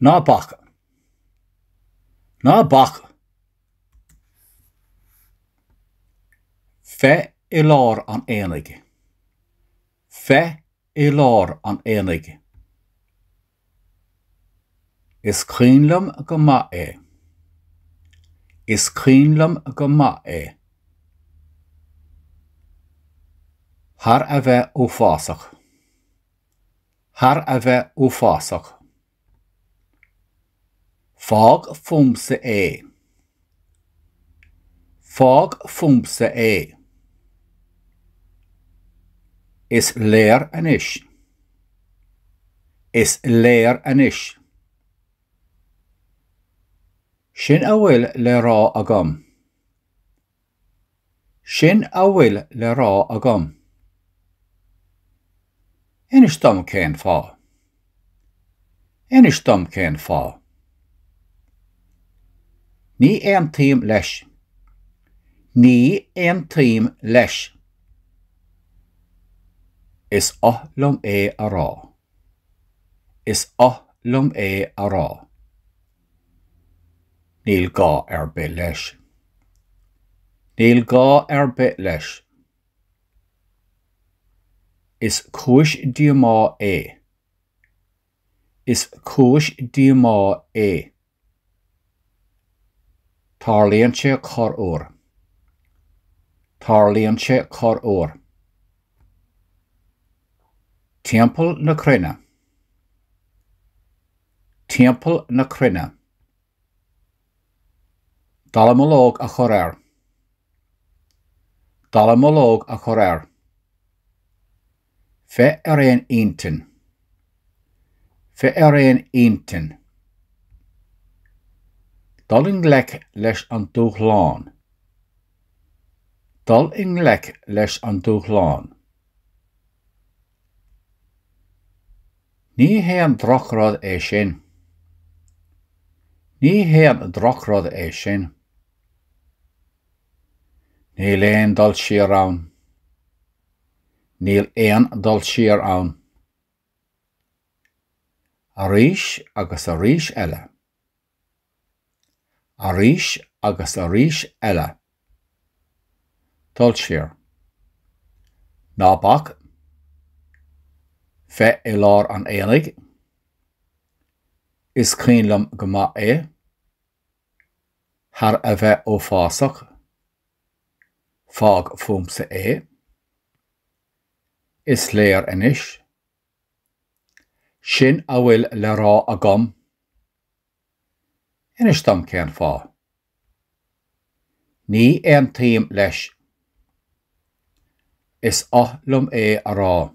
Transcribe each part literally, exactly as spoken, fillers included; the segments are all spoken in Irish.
Ná bac. Ná bac! Bheith i lár an aonaigh. Bheith i lár an aonaigh. Is cuimhin liom go maith é. Is cuimhin liom go maith é. Thar a bheith uafásach. Thar a bheith uafásach. Fág fúmsa é. Fág fúmsa é. Is léir anois. Is léir anois. Sin a bhfuil le rá agam. Sin a bhfuil le rá agam. Inis dom cén fáth. Inis dom cén fáth. Ní aontaím leis. Ní aontaím leis. Is oth liom é a rá. Is oth liom é a rá. Níl gá ar bith leis. Níl gá ar bith leis. Is cúis díomá é. Is cúis díomá é. Tarlaíonn sé corruair. Tarlaíonn sé corruair. Timpeall na cruinne. Timpeall na cruinne. Dallamullóg a chur air. Dallamullóg a chur air. Bheith ar aon intinn. Bheith ar aon intinn. Dul i ngleic leis an dúshlán. Dul i ngleic leis an dúshlán. Ní haon drochrud é sin. Ní haon drochrud é sin. Níl aon dul siar ann. Níl aon dul siar ann. Arís agus arís eile. Arís agus arís eile. Dul siar. Ná bac. Bheith i lár an aonaigh. Is cuimhin liom go maith é. Thar a bheith uafásach. Fág fúmsa é. Is léir anois. Sin a bhfuil le rá agam. Inis dom cén fáth. Ní aontaím leis. Is oth liom é a rá.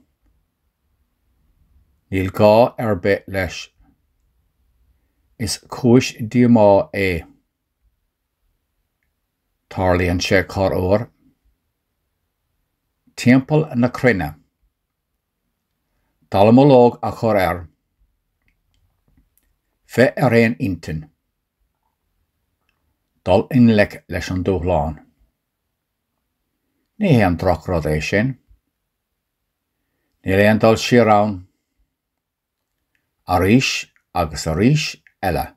Níl gá ar bith leis. Is cúis díomá é. Tarlaíonn sé corruair. Timpeall na cruinne. Dallamullóg a chur air. Bheith ar aon intinn. Dul i ngleic leis an dúshlán. Ní haon drochrud é sin. Níl aon dul siar ann. Arís agus arís eile.